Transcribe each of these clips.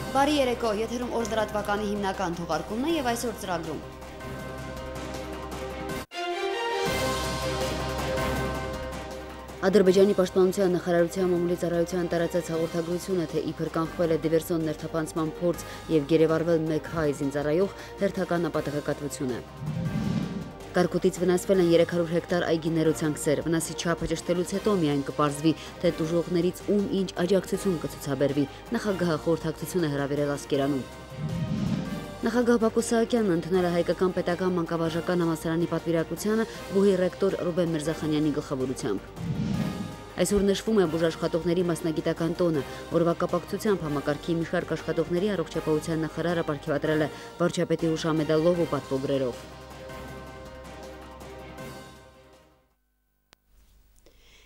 Բարի երեկո, եթերում օր լրատվականի հիմնական թողարկումն է եւ այսօր ծրագրում։ Ադրբեջանի պաշտպանության նախարարության մամուլի ծառայության տարածած հաղորդագրությունը, թե իբր կանխվել է դիվերսիոն ներթափանցման փորձ եւ գերեվարվել մեկ հայ զինծառայող, հերթական ապատեղեկատվություն է։ Կարկուտից վնասվել են 300 հեկտար այգիներ ու ցանքսեր, վնասի չափը ճշտելուց հետո միայն կպարզվի, թե տուժողներից ում ինչ աջակցություն կցուցաբերվի, նախագահը խորհրդակցություն է հրավիրել Ասկերանում։ Նախագահ Բակո Սահակյանն ընդունել է Հայկական պետական մանկավարժական համալսարանի պատվիրակությանը բուհի ռեկտոր Ռուբեն Միրզախանյանի գլխավորությամբ։ Այսօր նշվում է բուժաշխատողների մասնագիտական տոնը, որվա կապակցությամբ համակարգի մի շարք աշխատողների առողջապահության նախարարը պարգևատրել է վարչապետի հուշամեդալով ու պատվոգրերով։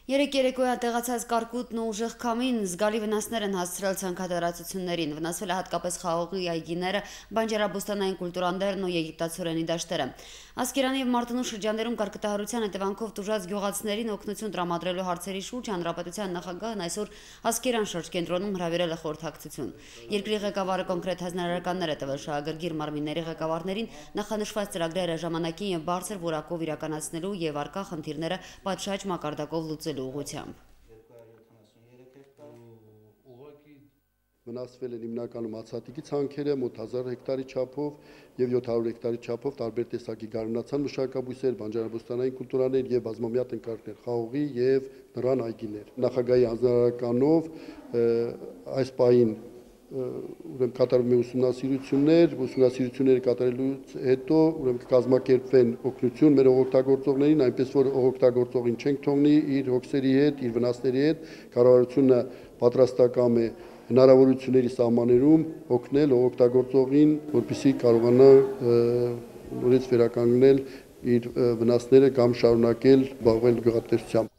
Երեկ երեկոյան տեղացած կարկուտն ու ուժեղ քամին զգալի վնասներ են հասցրել ցանքատարածություններին, վնասվել է հատկապես խաղողի այգիները, բանջարաբոստանային կուլտուրաներն ու եգիպտացորենի դաշտերը։ Ասկերանի եւ Մարտունու շրջաններում կարկտահարության հետևանքով տուժած գյուղացիներին օգնություն տրամադրելու հարցերի շուրջ հանրապետության նախագահն այսօր Ասկերան շրջկենտրոնում հրավիրել է խորհրդակցություն։ Երկրի ղեկավարը կոնկրետ հանրարարականներ է տվել շահագրգիռ մարմինների ղեկավարներին նախանշված ծրագրերը ժամանակին եւ բարձր որակով իրականացնելու եւ արկա խնդիրները պատշաճ մակարդակով լուծելու ուղղությամբ։ Վնասվել են հիմնականում ացատիկի ցանքերը մոտ 1000 հեկտարի չափով եւ 700 հեկտարի չափով տարբեր տեսակի գարնանացան մշակաբույսեր, բանջարաբոստանային կուլտուրաներ եւ բազմամյա տնկարկներ, խաղողի եւ նռան այգիներ։ Նախագահի հանձնարարականով այս պահին ուրեմն կատարվում է ուսումնասիրությունները կատարելուց հետո ուրեմն կկազմակերպվեն օգնություն մեր օգտագործողներին, այնպես որ օգտագործողին չենք թողնի իր հոգսերի հետ, իր վնասների հետ, կառավարությունը պատրաստական է հնարավորությունների սահմաններում օգնել օգտագործողին, որպեսզի կարողանա նորից վերականգնել իր վնասները կամ շարունակել զբաղվել գյուղատնտեսությամբ։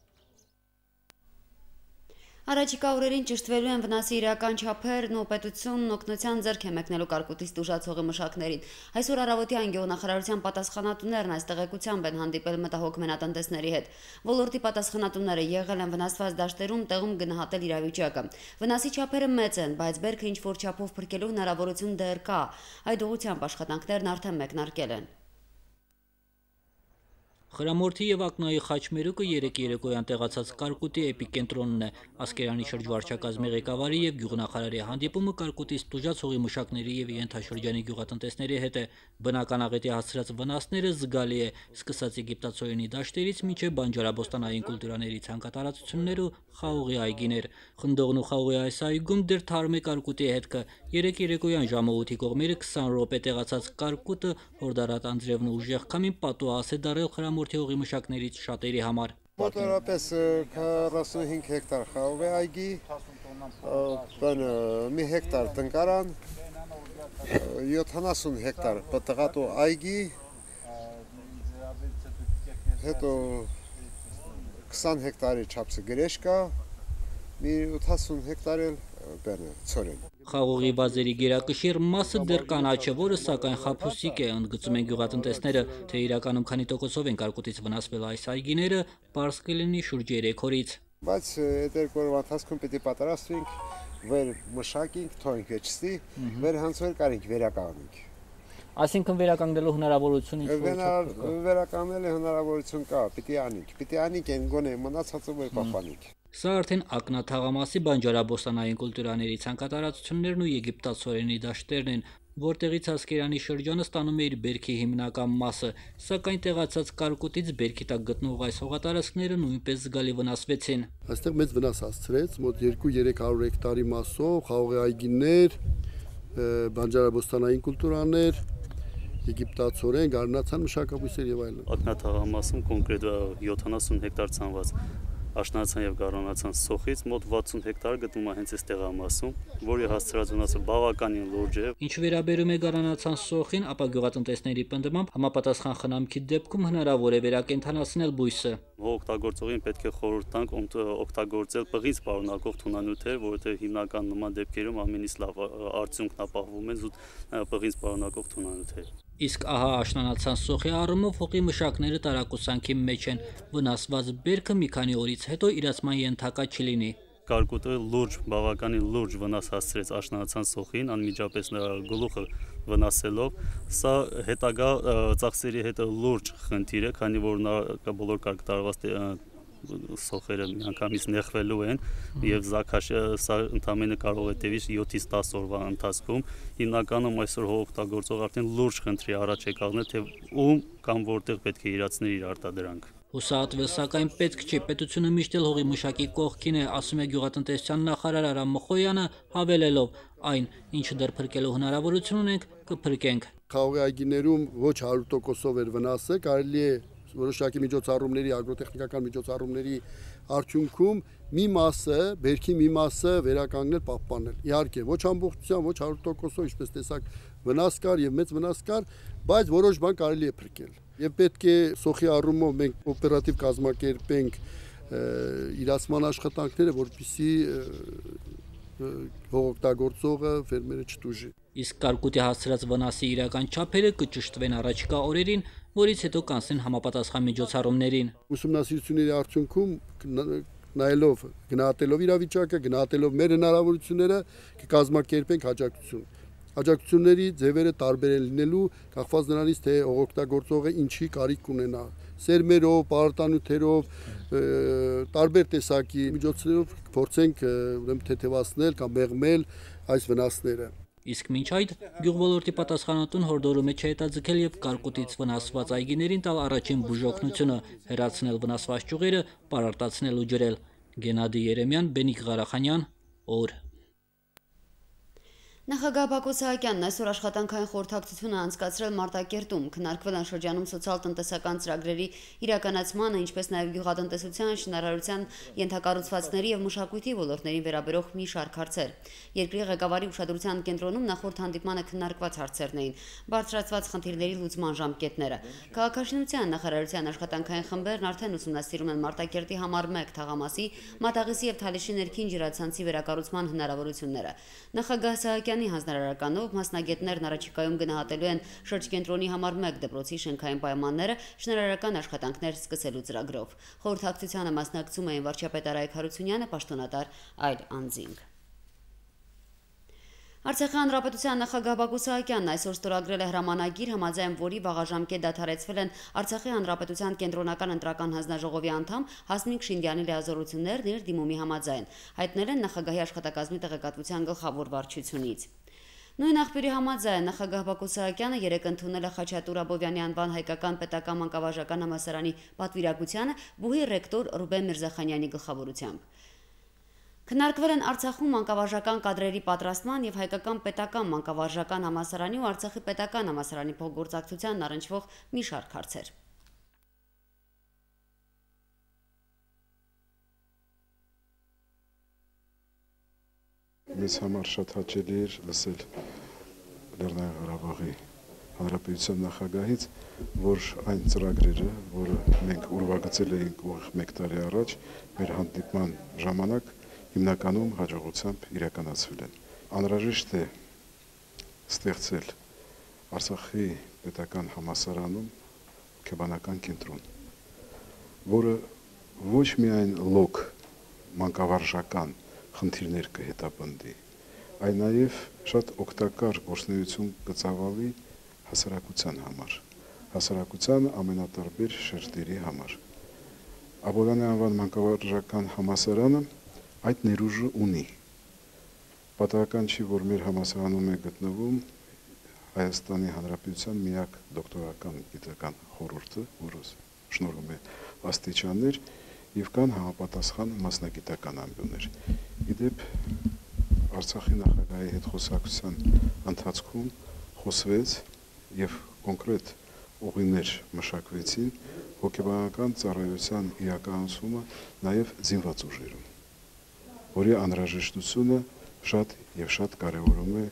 Առաջիկա օրերին ճշտվելու են վնասի իրական չափերն ու պետությունն օգնության ձեռք է մեկնելու կարկուտից տուժած մշակներին։ Այսօր առավոտյան գյուղնախարարության պատասխանատուներն այս տեղեկությամբ են հանդիպել մտահոգ մենատնտեսների հետ։ Ոլորտի պատասխանատուները եղել են վնասված դաշտերում տեղում գնահատել իրավիճակը։ Վնասի չափերը մեծ են, բայց բերքը ինչ-որ չափով փրկելու հնարավորություն դեռ կա։ Այդ ուղղությամբ աշխատանքներն արդեն մեկնարկել են։ Խրամորթի եւ Ակնայի խաչմերուկը երեկ երեկոյան տեղացած կարկուտի էպիկենտրոնն է։ Ասկերանի շրջվարչակազմի ղեկավարի եւ գյուղնախարարի հանդիպումը կարկուտից տուժած մշակների եւ ենթաշրջանի գյուղատնտեսների հետ է։ Բնական աղետի հասցրած վնասները զգալի է, սկսած եգիպտացորենի դաշտերից մինչեւ բանջարաբոստանային կուլտուրաների ցանկատարածություններ ու խաղողի այգիներ։ Խնդողն ու խաղողի այս այգում դեռ թարմ է կարկուտի հետքը։ Երեկ երեկոյան ժամը 8-ի կողմերը 20 րոպե տեղացած կարկուտը հորդարատ անձրևն ու ուժեղ քամին պատուհաս է դարել Խրամորթի հողի մշակներից շատերի համար։ Մոտավորապես 45 հեկտար խաղողի այգի, մի հեկտար տնկարան, 70 հեկտար պտղատու այգի, հետո 20 հեկտարի չափսը գրեշկա, մի 80 հեկտար էլ ցորեն։ Խաղողի վազերի գերակշիռ մասը դեռ կանաչ է, որը սակայն խաբուսիկ է, ընդգծում են գյուղատնտեսները, թե իրականում քանի տոկոսով են կարկուտից վնասվել այս այգիները, պարզ կլինի շուրջ 3 օրից։ Բայց այդ երկու օրվա ընթացքում պիտի պատրաստվենք, վեր մշակենք, թողենք վերջստի, վեր հանցվել կարենք վերականգնենք։ Այսինքն վերականգնելու հնարավորություն վերականգնելու հնարավորություն կա, պիտի անենք են գոնե մնացածը վեր պահպանենք։ Սա արդեն Ակնա թաղամասի բանջարաբոստանային կուլտուրաների ցանկատարածություններն ու եգիպտացորենի դաշտերն են, որտեղից Ասկերանի շրջանը ստանում է իր բերքի հիմնական մասը, սակայն տեղացած կարկուտից բերքի տակ գտնող այս հողատարածքները նույնպես զգալի վնասվեցին։ Այստեղ մեծ վնաս հասցրեց, մոտ 2-300 հեկտարի մասով խաղողի այգիներ, բանջարաբոստանային կուլտուրաներ, եգիպտացորեն, գարնանացան մշակաբույսեր եւ այլն։ Ակնա թաղամասում կոնկրետ 70 հեկտար ցանված աշնանացան եւ գարնանացան սոխից մոտ 60 հեկտար գտնվում է հենց այս տեղամասում, որի հասցրած վնասը բավականին լուրջ է։ Ինչ վերաբերում է գարնանացան սոխին, ապա գյուղատնտեսների պնդմամբ համապատասխան խնամքի դեպքում հնարավոր է վերակենդանացնել բույսը։ Օգտագործողին պետք է խորհուրդ տանք օգտագործել պղից պարունակող թունանյութեր, որովհետեւ հիմնական նման դեպքերում ամենից լավ արդյունքն ապահովում է զուտ պղից պարունակող թունանյութեր։ Իսկ ահա աշնանացան սոխի առումով հողի մշակները տարակուսանքի մեջ են, վնասված բերքը մի քանի օրից հետո իրացման ենթակա չլինի։ կարկուտը բավականին լուրջ վնաս հասցրեց աշնանացան սոխին, անմիջապես նրա գլուխը վնասելով, սա հետագա ծախսերի հետ լուրջ խնդիր է, քանի որ նա բոլոր կարգ տարված սոխերը միանգամից նեղվելու են եւ զաքաշը սա ընդամենը կարող է տևի 7-ից 10 օրվա ընթացքում հիմնականում այսօր հողօգտագործող արդեն լուրջ խնդրի առաջ է կանգնել թե ում կամ որտեղ պետք է իրացներ իր արտադրանքը Հուսահատվել, սակայն պետք չի, պետությունը միշտ էլ հողի մշակի կողքին է, ասում է գյուղատնտեսության նախարար Արամ Մխոյանը, հավելելով այն, ինչը դեռ փրկելու հնարավորություն ունենք, կփրկենք։ Խաղողի այգիներում ոչ 100%-ով էր վնասը, կարելի է որոշակի միջոցառումների, ագրոտեխնիկական միջոցառումների արդյունքում մի մասը, բերքի մի մասը վերականգնել, պահպանել։ Իհարկե, ոչ ամբողջությամբ, ոչ 100%-ով, ինչպես տեսակ, վնաս կար եւ մեծ վնաս կար, բայց որոշ բան կարելի է փրկել։ Եվ պետք է սոխի առումով մենք օպերատիվ կազմակերպենք իրացման աշխատանքները, որպեսզի հողօգտագործողը ֆերմերը չտուժի։ Իսկ կարկուտի հասցրած վնասի իրական չափերը կճշտվեն առաջիկա օրերին, որից հետո կանցնեն համապատասխան միջոցառումներին։ Ուսումնասիրությունների արդյունքում նայելով, գնահատելով իրավիճակը, գնահատելով մեր հնարավորությունները, կկազմակերպենք աջակցություն։ Աջակցությունների ձևերը տարբեր են լինելու, կախված նրանից, թե հողօգտագործողը ինչի կարիք ունենա։ Սերմերով, պարարտանյութերով, տարբեր տեսակի միջոցներով փորձենք թեթևացնել կամ մեղմել այս վնասները։ Իսկ մինչ այդ գյուղոլորտի պատասխանատուն հորդորում է չհետաձգել եւ կարկուտից վնասված այգիներին տալ առաջին բուժօգնությունը, հեռացնել վնասված ճյուղերը, պարարտացնել ու ջրել։ Գենադի Երեմյան, Բենիկ Ղարախանյան, օր։ Նախագահ Բակո Սահակյանն այսօր աշխատանքային խորհրդակցություն է անցկացրել Մարտակերտում, քննարկվել են շրջանում սոցիալ-տնտեսական ծրագրերի իրականացմանը, ինչպես նաև գյուղատնտեսության, շինարարության, ենթակառուցվածքների եւ մշակույթի ոլորտներին վերաբերող մի շարք հարցեր։ Երկրի ղեկավարի ուշադրության կենտրոնում նախորդ հանդիպմանը քննարկված հարցերն էին, բարձրացված խնդիրների լուծման ժամկետները։ Քաղաքաշինության նախարարության աշխատանքային խմբերն արդեն ուսումնասիրում են Մարտակերտի համար 1 թաղամասի, Մատաղիսի եւ Թալիշի ներքին ջրացանցի վերակառուցման հնարավորությունները։ Նախագահ Սահակյանի հանձնարարականով մասնագետներն առաջիկայում գնահատելու են շրջկենտրոնի համար 1 դպրոցի շենքային պայմանները շինարարական աշխատանքներ սկսելու ծրագրով։ Խորհրդակցությանը մասնակցում էին վարչապետ Արայք Հարությունյանը, պաշտոնատար այլ անձինք։ Արցախի հանրապետության նախագահ Բակո Սահակյանն այսօր ստորագրել է հրամանագիր, համաձայն որի վաղաժամկետ դադարեցվել են Արցախի հանրապետության կենտրոնական ընտրական հանձնաժողովի անդամ Հասմիկ Շինդյանի լիազորություններն իր դիմումի համաձայն, հայտնել են նախագահի աշխատակազմի տեղեկատվության գլխավոր վարչությունից։ Նույն աղբյուրի համաձայն նախագահ Բակո Սահակյանը երեկ ընդունել է Խաչատուր Աբովյանի անվան հայկական պետական մանկավարժական համալսարանի պատվիրակությանը բուհի ռեկտոր Ռուբեն Միրզախանյանի գլխավորությամբ։ Քննարկվել են Արցախում մանկավարժական կադրերի պատրաստման եւ հայկական պետական մանկավարժական համալսարանի ու Արցախի պետական համալսարանի փոխգործակցությանն առնչվող մի շարք հարցեր։ Մեզ համար շատ հաճելի էր լսել Լեռնային Ղարաբաղի Հանրապետության նախագահից, որ այն ծրագրերը, որը մենք ուրվագծել էինք ուղիղ 1 տարի առաջ, մեր հանդիպման ժամանակ հիմնականում հաջողությամբ իրականացվել են։ Անհրաժեշտ է ստեղծել Արցախի պետական համալսարանում հոգեբանական կենտրոն, որը ոչ միայն լոկ մանկավարժական խնդիրներ կհետապնդի, այլ նաև շատ օգտակար գործունեություն կծավալի հասարակության համար, հասարակության ամենատարբեր շերտերի համար։ Աբովյանի անվան մանկավարժական համալսարանը այդ ներուժը ունի։ Պատահական չի, որ մեր համալսարանում է գտնվում Հայաստանի Հանրապետության միակ դոկտորական գիտական խորհուրդը, որը շնորհում է աստիճաններ եւ կան համապատասխան մասնագիտական ամբիոններ։ Իդեպ Արցախի նախագահի հետ խոսակցության ընթացքում խոսվեց եւ կոնկրետ ուղիներ մշակվեցին հոգեբանական ծառայության իրականացումը նաեւ զինված ուժերում, որի անհրաժեշտությունը շատ եւ շատ կարեւորում է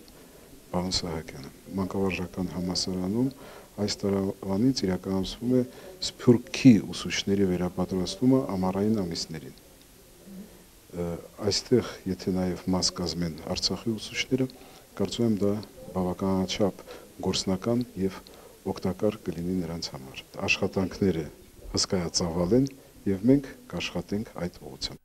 պարոն Սահակյանը։ Մանկավարժական համալսարանում այս տարվանից իրականացվում է սփյուռքի ուսուցիչների վերապատրաստումը ամառային ամիսներին։ Այստեղ, եթե նաեւ մաս կազմեն Արցախի ուսուցիչները, կարծում եմ դա բավականաչափ գործնական եւ օգտակար կլինի նրանց համար։ Աշխատանքները հսկայածավալ են եւ մենք կաշխատենք այդ ուղղությամբ։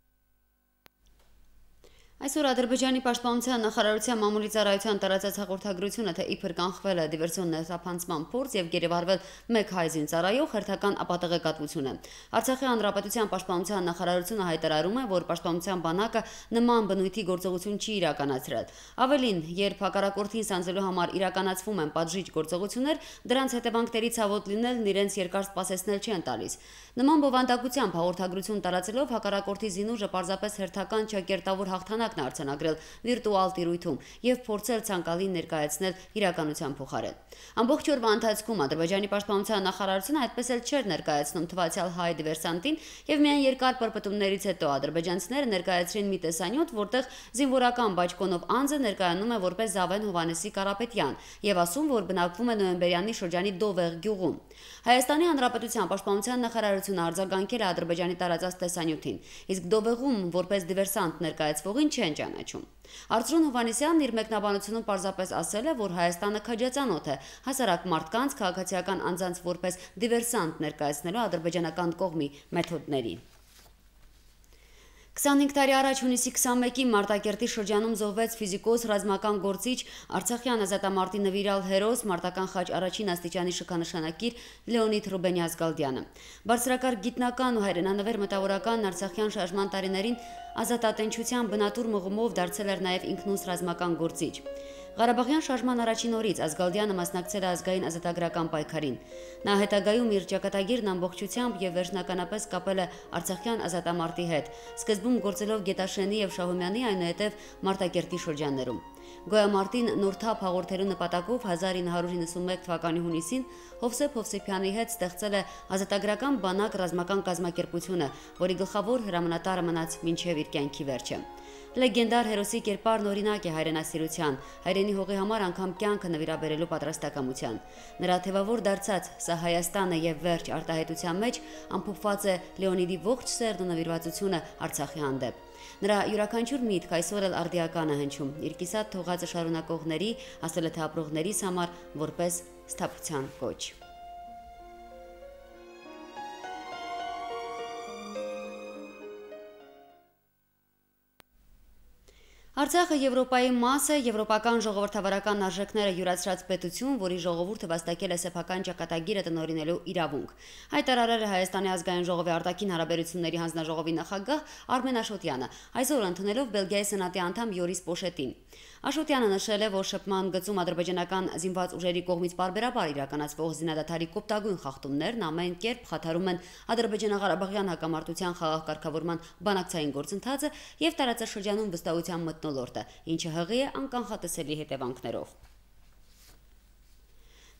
Այսօր Ադրբեջանի պաշտպանության նախարարության մամուլի ծառայության տարածած հաղորդագրությունը, թե իբր կանխվել է դիվերսիոն ներթափանցման փորձ եւ գերեվարվել մեկ հայ զինծառայող հերթական ապատեղեկատվություն է։ Արցախի հանրապետության պաշտպանության նախարարությունը հայտարարում է, որ պաշտպանության բանակը նման բնույթի գործողություն չի իրականացրել։ Ավելին, երբ հակառակորդին սանձելու համար իրականացվում են պատժիչ գործողություններ, դրանց հետևանքների ցավոտ լինելն իրենց երկար սպասեցնել չեն տալիս։ Նման բովանդակությամբ հաղորդագրություն տարածելով հակառակորդի զինուժը պարզապես հերթական ճակերտավոր հաղթանակն արձանագրել վիրտուալ տիրույթում եւ փորձել ցանկալին ներկայացնել իրականության փոխարեն։ Ամբողջ օրվա ընթացքում Ադրբեջանի պաշտպանության նախարարությունը այդպես էլ չէր ներկայացնում թվացյալ հայ դիվերսանտին եւ միայն երկար պրպտումներից հետո ադրբեջանցիները ներկայացրին մի տեսանյութ, որտեղ զինվորական բաճկոնով անձը ներկայանում է որպես Զավեն Հովհաննեսի Կարապետյան եւ ասում, որ բնակվում է Նոյեմբերյանի շրջանի Դովեղ գյուղում։ Հայաստանի Հանրապետության պաշտպանության նախարարությունը արձագանքել է Ադրբեջանի տարածած տեսանյութին, իսկ Դովեղում որպես դիվերսանտ ներկայացվողին չեն ճանաչում։ Արծրուն Հովհաննեսյանն իր մեկնաբանությունում պարզապես ասել է, որ Հայաստանը քաջածանոթ է հասարակ մարդկանց քաղաքացիական անձանց որպես դիվերսանտ ներկայացնելու ադրբեջանական կողմի մեթոդների։ 25 տարի առաջ հունիսի 21-ին Մարտակերտի շրջանում զոհվեց ֆիզիկոս, ռազմական գործիչ, Արցախյան ազատամարտի նվիրալ հերոս, մարտական խաչ առաջին աստիճանի շքանշանակիր Լեոնիդ Ռուբենյազգալդյանը։ Բարձրակարգ գիտնական ու հայրենանվեր մտավորական Արցախյան շարժման տարիներին ազատատենչության բնատուր մղումով դարձել էր նաև ինքնուս ռազմական գործիչ։ Ղարաբաղյան շարժման առաջին օրից Ազգալդյանը մասնակցել է ազգային ազատագրական պայքարին։ Նա հետագայում իր ճակատագիրն ամբողջությամբ եւ վերջնականապես կապել է Արցախյան ազատամարտի հետ, սկզբում գործելով Գետաշենի եւ Շահումյանի, այնուհետեւ Մարտակերտի շրջաններում։ Գոյամարտին նոր թափ հաղորդելու նպատակով 1991 թվականի հունիսին Հովսեփ Հովսեփյանի հետ ստեղծել է ազատագրական բանակ ռազմական կազմակերպությունը, որի գլխավոր հրամանատարը մնաց մինչև իր կյանքի վերջը։ Լեգենդար հերոսի կերպարն օրինակ է հայրենասիրության, հայրենի հողի համար անգամ կյանքը նվիրաբերելու պատրաստակամության։ Նրա թևավոր դարձած «Սա Հայաստանը» եւ «Վերջ» արտահայտության մեջ ամփոփված է Լեոնիդի ողջ սերն ու նվիրվածությունը Արցախի հանդեպ։ Նրա յուրաքանչյուր միտք այսօր էլ արդիական է հնչում իր կիսատ թողածը շարունակողների, ասել է թե ապրողներիս համար որպես սթափության կոչ։ Արցախը Եվրոպայի մաս է, եվրոպական ժողովրդավարական արժեքները յուրացրած պետություն, որի ժողովուրդը վաստակել է սեփական ճակատագիրը տնօրինելու իրավունք։ Հայտարարել է Հայաստանի ազգային ժողովի արտաքին հարաբերությունների հանձնաժողովի նախագահ Արմեն Աշոտյանը, այսօր ընդունելով Բելգիայի սենատի անդամ Յորիս Պոշետին։ Աշոտյանը նշել է, որ շփման գծում ադրբեջանական զինված ուժերի կողմից պարբերաբար իրականացվող զինադադարի կոպտագույն խախտումներն ամեն կերպ խաթարում են ադրբեջանա-ղարաբաղյան հակամարտության խաղաղ կարգավորման բանակցային գործընթացը եւ տարածաշրջանում վստահության մթնոլորտը, ինչը հղի է անկանխատեսելի հետևանքներով։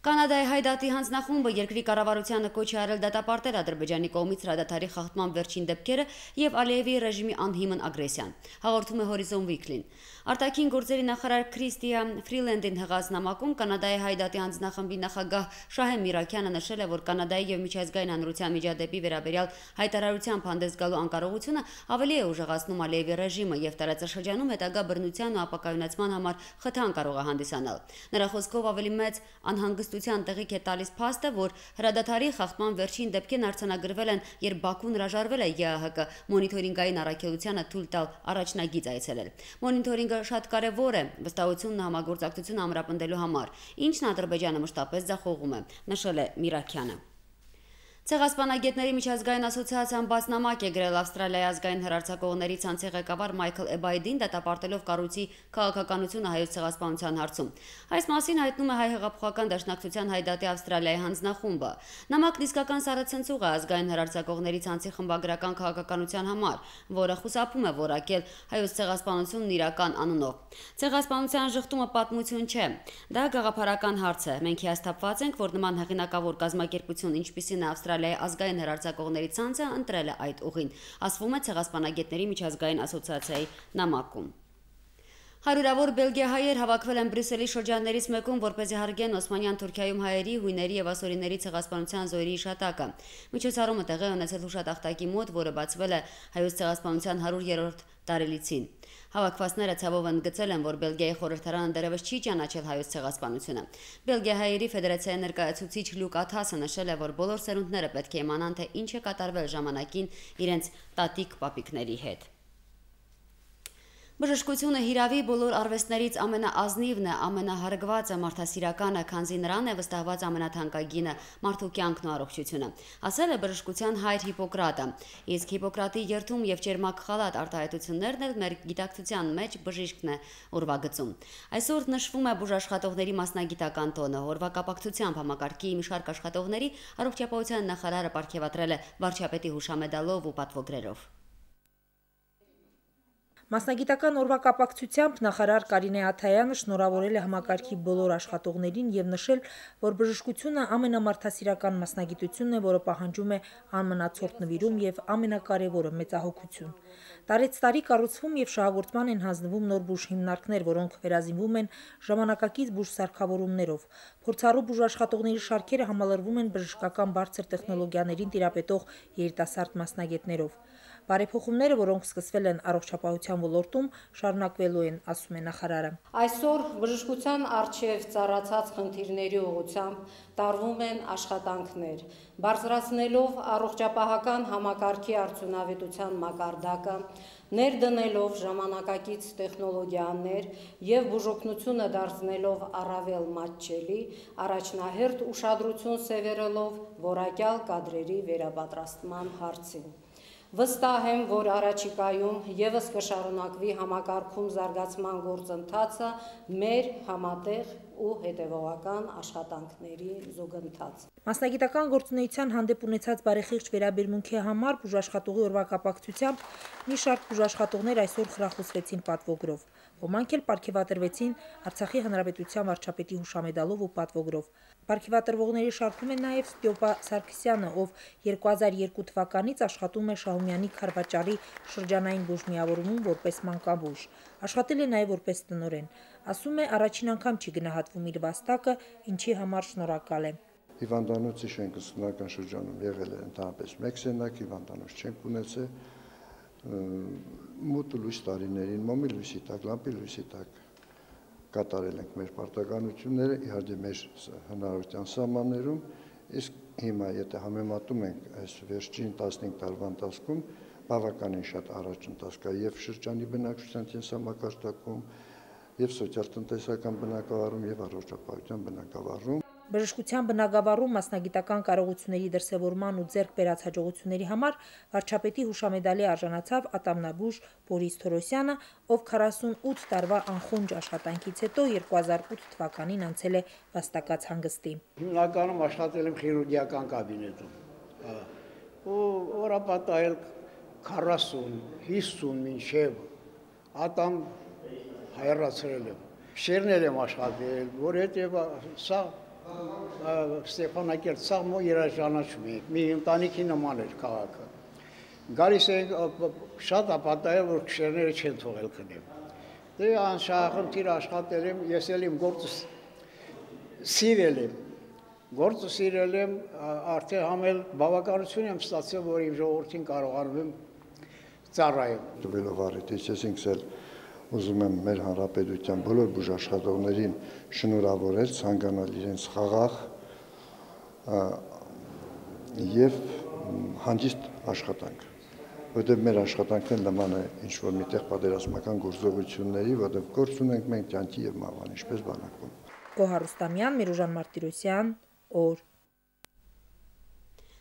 Կանադայի հայդատի հանձնախումբը երկրի կառավարությանը կոչ է արել դատապարտել Ադրբեջանի կողմից հրադադարի խախտման վերջին դեպքերը եւ Ալիևի ռեժիմի անհիմն ագրեսիան, հաղորդում է Հորիզոն Վիկլին։ Արտաքին գործերի նախարար Քրիստիա Ֆրիլենդին հղած նամակում Կանադայի հայդատի հանձնախմբի նախագահ Շահեմ Միրաքյանը նշել է, որ Կանադայի եւ միջազգային հանրության միջադեպի վերաբերյալ հայտարարությամբ հանդես գալու անկարողությունը ավելի է ուժեղացնում Ալիևի ռեժիմը եւ տարածաշրջանում հետագա բռնության ու ապակայունացման համար խթան կարող է հանդիսանալ։ Նրա խոսքով ավելի մեծ անհանգստության տեղիք է տալիս փաստը, որ հրադադարի խախտման վերջին դեպքերն արձանագրվել են, երբ Բաքուն հրաժարվել է ԵԱՀԿ մոնիթորինգային առաքելությանը թույլ տալ առաջնագիծ այցելել։ Մոնիթորինգը շատ կարևոր է վստահությունն ու համագործակցությունը ամրապնդելու համար, ինչն Ադրբեջանը մշտապես ձախողում է, նշել է Միրաքյանը։ Ցեղասպանագետների միջազգային ասոցիացիան բաց նամակ է գրել Ավստրալիայի ազգային հեռարձակողների ցանցի ղեկավար Մայքլ Էբայդին դատապարտելով կառույցի քաղաքականությունը հայոց ցեղասպանության հարցում։ Այս մասին հայտնում է Հայ հեղափոխական դաշնակցության հայդատի Ավստրալիայի հանձնախումբը։ Նամակն իսկական սառեցնցուղ է ազգային հեռարձակողների ցանցի խմբագրական քաղաքականության համար, որը խուսափում է որակել հայոց ցեղասպանությունն իրական անունով։ Ցեղասպանության ժխտումը պատմություն չէ։ Դա գաղափարական հարց է։ Մենք հիասթափված ենք, որ նման հեղինակավոր կազմակերպություն, ինչպիսին է Ավստրալիայի ազգային հեռարձակողների ցանցը, ընտրել է այդ ուղին, ասվում է Ցեղասպանագետների միջազգային ասոցիացիայի նամակում։ Հարյուրավոր բելգիահայեր հավաքվել են Բրյուսելի շրջաններից մեկում, որպեսզի հարգեն Օսմանյան Թուրքիայում հայերի, հույների եւ ասորիների ցեղասպանության զոհերի հիշատակը։ Միջոցառումը տեղի ունեցել հուշատախտակի մոտ, որը բացվել է հայոց ցեղասպանության 100-րդ տարելիցին։ Հավաքվածները ցավով ընդգծել են, որ Բելգիայի խորհրդարանը դեռևս չի ճանաչել հայոց ցեղասպանությունը։ Բելգիահայերի ֆեդերացիայի ներկայացուցիչ Լյուկ Աթասը նշել է, որ բոլոր սերունդները պետք է իմանան, թե ինչ է կատարվել ժամանակին իրենց տատիկ-պապիկների հետ։ Բժշկությունը հիրավի բոլոր արվեստներից ամենաազնիվն է, ամենահարգվածը, մարդասիրականը, քանզի նրան է վստահված ամենաթանկագինը՝ մարդու կյանքն ու առողջությունը, ասել է բժշկության հայր Հիպոկրատը, իսկ Հիպոկրատի երթում եւ ճերմակ խալատ արտահայտություններն էլ մեր գիտակցության մեջ բժիշկն է ուրվագծում։ Այսօր նշվում է բուժաշխատողների մասնագիտական տոնը, օրվա կապակցությամբ համակարգի մի շարք աշխատողների առողջապահության նախարարը պարգևատրել է վարչապետի հուշամեդալով ու պատվոգրերով։ Մասնագիտական օրվա կապակցությամբ նախարար Կարինե Աթայանը շնորհավորել է համակարգի բոլոր աշխատողներին եւ նշել, որ բժշկությունը ամենամարդասիրական մասնագիտությունն է, որը պահանջում է անմնացորդ նվիրում եւ ամենակարևորը մեծահոգություն։ Տարեց տարի կառուցվում եւ շահագործման են հանձնվում նոր բուժ հիմնարկներ, որոնք վերազինվում են ժամանակակից բուժ սարքավորումներով։ Փորձառու բուժաշխատողների շարքերը համալրվում են բժշկական բարձր տեխնոլոգիաներին տիրապետող երիտասարդ մասնագետներով։ Բարեփոխումները, որոնք սկսվել են առողջապահության ոլորտում, շարունակվելու են, ասում է նախարարը։ Այսօր բժշկության առջև ծառացած խնդիրների ուղղությամբ տարվում են աշխատանքներ, բարձրացնելով առողջապահական համակարգի արդյունավետության մակարդակը, ներդնելով ժամանակակից տեխնոլոգիաներ եւ բուժօգնությունը դարձնելով առավել մատչելի, առաջնահերթ ուշադրություն սևեռելով որակյալ կադրերի վերապատրաստման հարցին։ Վստահ եմ, որ առաջիկայում եւս կշարունակվի համակարգում զարգացման գործընթացը մեր համատեղ ու հետևողական աշխատանքների զուգընթաց։ Մասնագիտական գործունեության հանդեպ ունեցած բարեխիղճ վերաբերմունքի համար բուժաշխատողի օրվա կապակցությամբ մի շարք բուժաշխատողներ այսօր խրախուսվեցին պատվոգրով։ Ոմանք էլ պարգևատրվեցին Արցախի Հանրապետության վարչապետի հուշամեդալով ու պատվոգրով։ Պարգևատրվողների շարքում է նաև Ստյոպա Սարգսյանը, ով 2002 թվականից աշխատում է Շահումյանի Քարվաճարի շրջանային բուժմիավորումում որպես մանկաբույժ։ Աշխատել է նաև որպես տնօրեն։ Ասում է, առաջին անգամ չի գնահատվում իր վաստակը, ինչի համար շնորհակալ է։ Հիվանդանոցի շենքը սնական շրջանում եղել է ընդհանրապես մեկ սենյակ, հիվանդանոց չենք ունեցել, մութ լույս տարիներին, մոմի լույսի տակ, լամպի լույսի տակ կատարել ենք մեր պարտականությունները, իհարկե մեր հնարավորության սահմաններում, իսկ հիմա եթե համեմատում ենք այս վերջին 15 տարվա ընթացքում, բավականին շատ առաջընթաց կա եւ շրջանի բնակչության կենսամակարդակում, եւ սոցիալ-տնտեսական բնակավարում եւ առողջապահության բնակավարում։ Բժշկության բնագավառում մասնագիտական կարողությունների դրսևորման ու ձեռք բերած հաջողությունների համար վարչապետի հուշամեդալի արժանացավ ատամնաբույժ Բորիս Թորոսյանը, ով 48 տարվա անխոնջ աշխատանքից հետո 2008 թվականին անցել է վաստակած հանգստի։ Հիմնականում աշխատել եմ խիրուրգիական կաբինետում։ Ու օրապատայել 40, 50 մինչև ատամ հայրացրել եմ։ Շերներ եմ աշխատել, որովհետև սա Ստեփանակերտ սա մո երաժանաչում է, մի ընտանիքի նման էր քաղաքը։ Գալիս ենք շատ ապատայել, որ քշերները չեն թողել քնեմ։ Դե անշահախնդիր աշխատել եմ, ես էլ իմ գործը սիրել եմ։ Գործը սիրել եմ, արդեն համել բավականություն եմ ստացել, որ իմ ժողովրդին կարողանում եմ ծառայել։ Տվելով առիթից ես ինքս էլ ուզում եմ մեր հանրապետության բոլոր բուժաշխատողներին շնորհավորել, ցանկանալ իրենց խաղաղ եւ հանգիստ աշխատանք, որտեղ մեր աշխատանքն նման է ինչ-որ միտեղ պատերազմական գործողությունների, որտեղ գործ ունենք մենք կյանքի եւ մահվան, ինչպես բանակում։ Գոհար Ռուստամյան, Միրուժան Մարտիրոսյան, օր։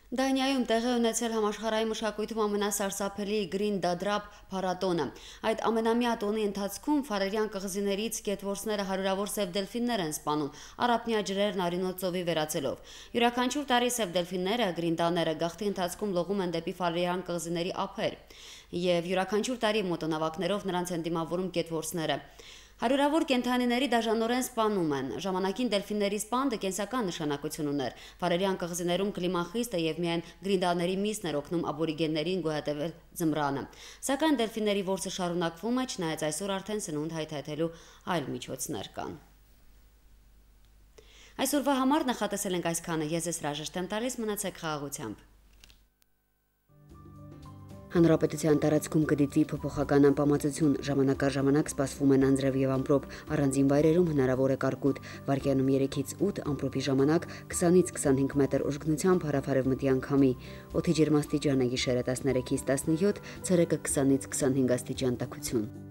Դանիայում տեղի ունեցել համաշխարհային մշակույթում ամենասարսափելի Green Dadrap փառատոնը։ Այդ ամենամյա տոնի ընթացքում ֆարերյան կղզիներից գետվորսները հարյուրավոր սև դելֆիններ են սպանում, առափնյա ջրերն արյունոտ ծովի վերածելով։ Յուրաքանչյուր տարի սև դելֆինները, գրինդաները գաղթի ընթացքում լողում են դեպի ֆարերյան կղզիների ափեր, եւ յուրաքանչյուր տարի մոտոնավակներով նրանց են դիմավորում գետվորսները։ Հարյուրավոր կենդանիների դաժանորեն սպանում են։ Ժամանակին դելֆինների սպանդը կենսական նշանակություն ուներ։ Ֆարերյան կղզիներում կլիման խիստ է եւ միայն գրինդաների միսն էր օգնում աբորիգեններին գոյատևել ձմռանը։ Սակայն դելֆինների որսը շարունակվում է, չնայած այսօր արդեն սնունդ հայթայթելու այլ միջոցներ կան։ Այսօրվա համար նախատեսել ենք այսքանը։ Ես հրաժեշտ եմ տալիս, մնացեք խաղաղությամբ։ Հանրապետության տարածքում կդիտվի փոփոխական անպամացություն, ժամանակ սպասվում են անձրև եւ ամպրոպ, առանձին վայրերում հնարավոր է կարկուտ, վարկյանում 3-ից 8, ամպրոպի ժամանակ 20-ից 25 մետր ուժգնությամբ հարավ-արևմտյան քամի, օդի ջերմաստիճանը գիշերը 13-ից 17, ցերեկը 20-ից 25 աստիճան տաքություն։